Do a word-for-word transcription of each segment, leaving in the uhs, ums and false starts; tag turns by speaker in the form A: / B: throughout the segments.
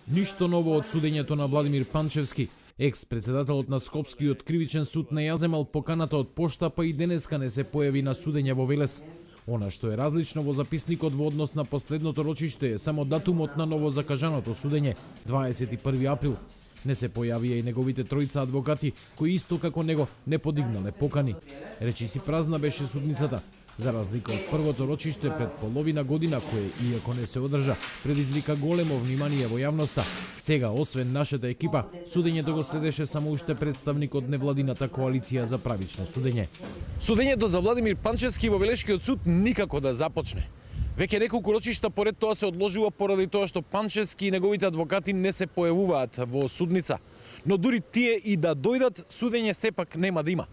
A: Ништо ново од судењето на Владимир Панчевски. Екс-председателот на Скопскиот кривичен суд не ја земал поканата од пошта, па и денеска не се појави на судење во Велес. Она што е различно во записникот во однос на последното рочиште е само датумот на ново закажаното судење, дваесет и први април. Не се појавија и неговите тројца адвокати, кои исто како него не подигнале покани. Речи си празна беше судницата, за разлика од првото рочиште пред половина година, кое, иако не се одржа, предизвика големо внимание во јавноста. Сега, освен нашата екипа, судењето го следеше само уште представник од невладината коалиција за правично судење.
B: Судењето за Владимир Панчевски во Велешкиот суд никако да започне. Веќе неколку рочишта поред тоа се одложува поради тоа што Панчевски и неговите адвокати не се појавуваат во судница. Но дури тие и да дојдат, судење сепак нема да има.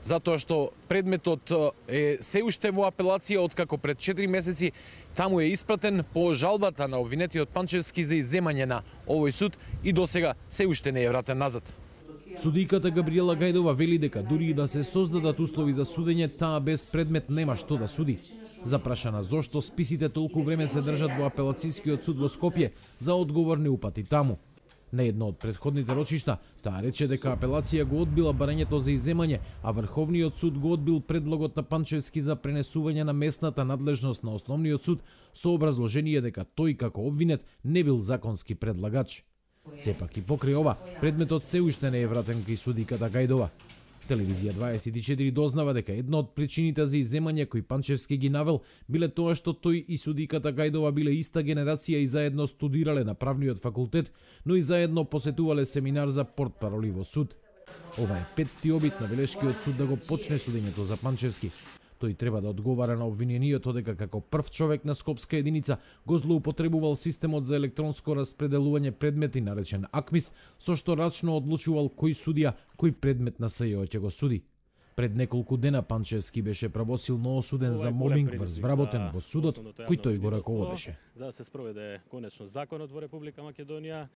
B: Затоа што предметот е се уште во апелација, откако пред четири месеци таму е испратен по жалбата на обвинетиот Панчевски за изземање на овој суд и досега се уште не е вратен назад.
A: Судиката Габриела Гајдова вели дека дури и да се создадат услови за судење, таа без предмет нема што да суди. Запрашана зошто списите толку време се држат во апелацијскиот суд во Скопје, за одговор не упати таму. На едно од предходните рочишта, таа рече дека апелација го одбила барањето за изземање, а Врховниот суд го одбил предлогот на Панчевски за пренесување на местната надлежност на Основниот суд со образложение дека тој како обвинет не бил законски предлагач. Сепак и покрај ова, предметот се уште не е вратен кај судиката Гајдова. Телевизија дваесет и четири дознава дека една од причините за изземање кои Панчевски ги навел биле тоа што тој и судиката Гајдова биле иста генерација и заедно студирале на правниот факултет, но и заедно посетувале семинар за портпароли во суд. Ова е петти обид на Велешкиот суд да го почне судењето за Панчевски. Тој треба да одговара на обвинението дека како прв човек на скопска единица го злоупотребувал системот за електронско распределување предмети наречен АКМИС, со што рачно одлучувал кој судија кој предмет на СЈО ќе го суди. Пред неколку дена Панчевски беше правосилно осуден за мобинг врз вработен во судот кој тој го раководеше.
C: За да се спроведе конечно законот во Република Македонија.